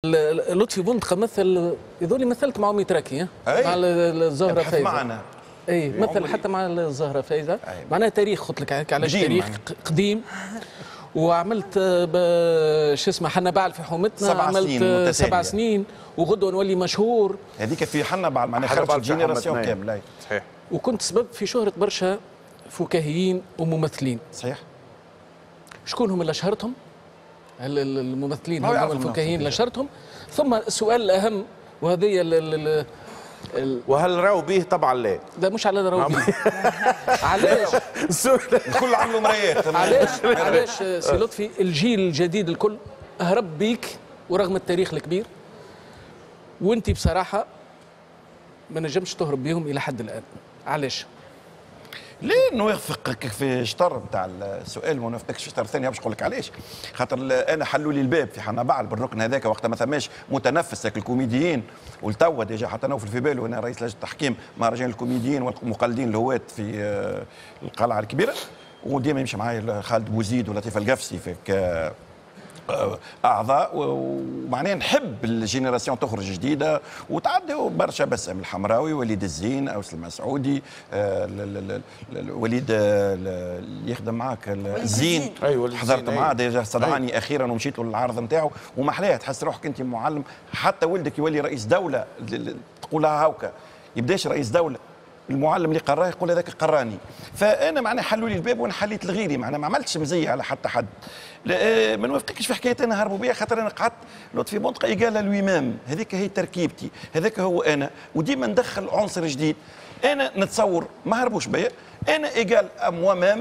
لطفي بندقه مثل يظل مثلت مع متراكي مع الزهرة فايزه معنا. اي مثل حتى مع الزهرة فايزه، معناها تاريخ، قلت لك علاش تاريخ قديم. وعملت شو اسمه حنا بعل في حومتنا، عملت 7 سنين وغدوه نولي مشهور. هذيك في حنا بعل معناها خرجت génération كاملة. صحيح. وكنت سبب في شهرة برشا فكاهيين وممثلين. صحيح. شكون هم اللي شهرتهم؟ الممثلين هم الفكاهيين اللي شهرتهم. ثم السؤال الأهم وهذه وهل راوا به؟ طبعا لا. لا مش على راوا به. علاش؟ الكل عملوا مرايات. علاش سي لطفي الجيل الجديد الكل هرب بيك ورغم التاريخ الكبير، وانت بصراحة ما نجمش تهرب بيهم إلى حد الآن، علاش؟ ليه نوافقك في شطر نتاع السؤال وما نوافقكش في شطر ثاني؟ باش نقول لك علاش. خاطر انا حلوا لي الباب في حنا بعل بالركن هذاك وقت ما ثماش متنفس الكوميديين، والتوا déjà حتى نوفل في باله انا رئيس لجنة التحكيم مهرجان الكوميديين والمقلدين الهواة في القلعة الكبيرة، وديما يمشي معايا خالد بوزيد ولطيف القفصي في اعضاء، ومعناها نحب ال génération تخرج جديدة وتعدي برشا. بسام الحمراوي، وليد الزين، اوس المسعودي، وليد اللي يخدم معاك الزين، أيوة حضرت معاه déjà استدعاني اخيرا ومشيت له للعرض نتاعو، ومحلاه تحس روحك انت معلم، حتى ولدك يولي رئيس دولة تقولها هاوكا يبداش رئيس دولة، المعلم اللي قراه يقول هذاك قراني. فانا معناها حلوا لي الباب وانا حليت لغيري، معناها ما عملتش مزية على حتى حد. ما نوافقكش في حكاية انا هربوا بيا، خاطر انا قعدت لطفي بندقه égal à lui-même، هذيك هي تركيبتي، هذاك هو انا، وديما ندخل عنصر جديد. انا نتصور ما هربوش بيا، انا égal à moi-même،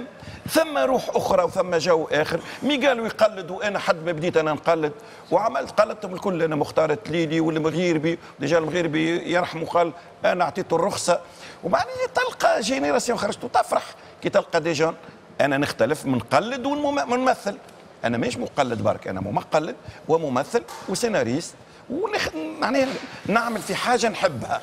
ثم روح اخرى وثم جو اخر. مي قالوا يقلد وانا حد ما بديت انا نقلد، وعملت قلدتهم الكل، انا مختار التليلي والمغيربي، déjà المغيربي يرحمه قال انا اعطيته الرخصة. ومعناها تلقى génération خرجت وتفرح كي تلقى des jeunes. انا نختلف من نقلد ونمثل، انا مش مقلد برك، انا مقلد وممثل وسيناريست، معناها نعمل في حاجة نحبها.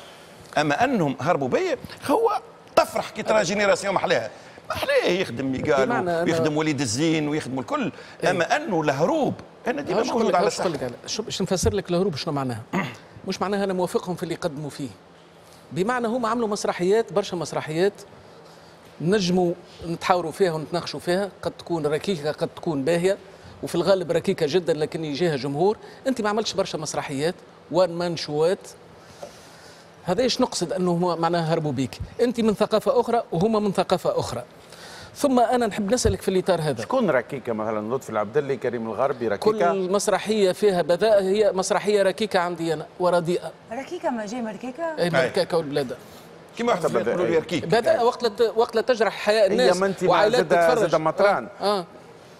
اما انهم هربوا بيا هو تفرح كي ترى génération محلاها، محلاه يخدم ميقالو ويخدم وليد الزين ويخدم الكل. اما انه الهروب انا ديما موجود على الساحة. باش نفسر لك الهروب شنو معناها. مش معناها انا موافقهم في اللي قدموا فيه، بمعنى هم عملوا مسرحيات، برشا مسرحيات نجموا نتحاوروا فيها ونتناقشوا فيها، قد تكون ركيكه قد تكون باهيه، وفي الغالب ركيكه جدا لكن يجيها جمهور. انت ما عملتش برشا مسرحيات one man show ات، هذا ايش نقصد انه معناها هربوا بيك. انت من ثقافة اخرى وهما من ثقافة اخرى. ثم انا نحب نسالك في الاطار هذا، شكون ركيكه مثلا؟ لطفي العبدلي، كريم الغربي، ركيكه؟ كل مسرحية فيها بذاء هي مسرحية ركيكه عندي انا ورديئه. ركيكه ما جاي مركيكه؟ اي مركيكه والبلاده كيما واحد يقولوا لي ركيك بذاء وقت لا تجرح حياء الناس وعائلات تتفرج. زاد مطران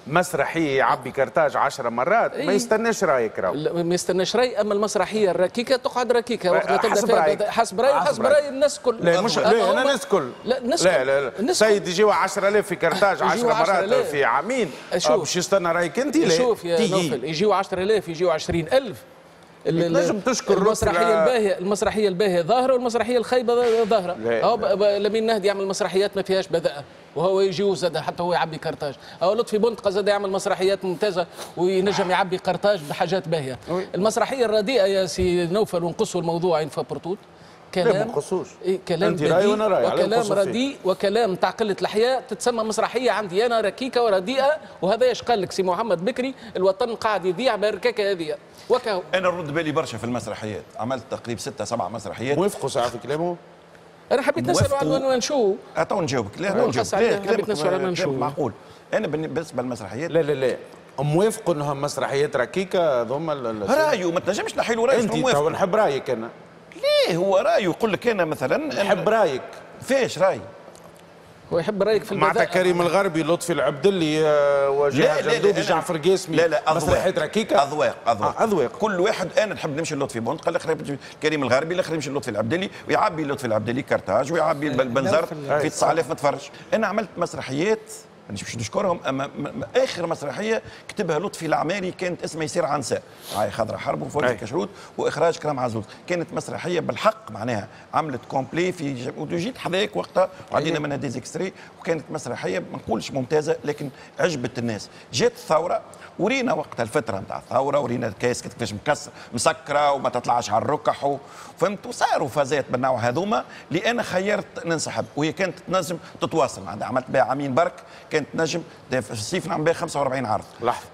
مسرحية يعبي كرتاج 10 مرات. ما يستناش رايك راهو، ما يستناش راي. اما المسرحية الركيكه تقعد ركيكه وقت لا تبدا فيها حسب راي وحسب راي الناس الكل. لا مش لا انا الناس الكل، لا الناس لا لا لا سيد يجيو 10000 في كرتاج 10 مرات في عامين باش يستنى رايك انت؟ لا شوف يا نوفل، يجيو 10000 يجيو 20000. تنجم تشكر المسرحية الباهيه، المسرحية الباهيه ظاهره والمسرحيه الخايبة ظاهره. هو لمين نهدي يعمل مسرحيات ما فيهاش بذاءه وهو يجي زاد حتى هو يعبي كرتاج. او لطفي بندقه زاد يعمل مسرحيات ممتازة وينجم يعبي قرطاج بحاجات باهيه. المسرحية الرديئة يا سي نوفل، ونقصوا الموضوع une fois pour toutes، كلام إيه كلام بديء وكلام رديء وكلام تاع قلة الحياء تتسمى مسرحية عندي انا ركيكه ورديئه. وهذا ايش قال لك سي محمد بكري، الوطن قاعد يضيع بالركاكه هذه وكهو. انا نرد بالي برشا في المسرحيات، عملت تقريبا 6 7 مسرحيات. موافقوا ساعة في كلامه؟ انا حبيت نساله على ال one man show. اتو نجاوبك. لا نجاوبك. لا حبيت نساله على ال one man show. معقول. انا بالنسبة للمسرحيات لا لا لا موافق انها مسرحيات ركيكه هذوما. رايه ما تنجمش نحي له رايه. انت تو نحب رايك انا. ليه هو رايه يقول لك انا مثلا نحب رايك. فاش راي؟ هو يحب رايك في البذاءة. معناتها كريم الغربي، لطفي العبدلي، وجهاد جندوبي، جعفر قاسمي. لا لا مسرحيات ركيكه. اذواق اذواق اذواق. كل واحد انا نحب نمشي للطفي بندقه، الاخر كريم الغربي، الاخر يمشي للطفي العبدلي، ويعبي لطفي العبدلي كرتاج ويعبي البنزرت في 9000 متفرج. انا عملت مسرحيات مانيش باش نشكرهم، اما اخر مسرحية كتبها لطفي العماري كانت اسمها يصير عنساء، هاي خضرة حرب وفوزي كشروت واخراج كرام عزوز. كانت مسرحية بالحق معناها عملت complet في وجيت حذاك وقتها وعدينا منها des extraits، وكانت مسرحية ما نقولش ممتازة لكن عجبت الناس. جات الثورة ورينا وقتها الفترة نتاع الثوره، ورينا الكاس كيفاش مكسر مسكره وما تطلعش على الركح، فهمت؟ وصاروا فازات بالنوع هذوما اللي انا خيرت ننسحب، وهي كانت تنجم تتواصل، عملت بها عامين برك، كانت تنجم في الصيف نعمل بها 45 عرض. لحظه.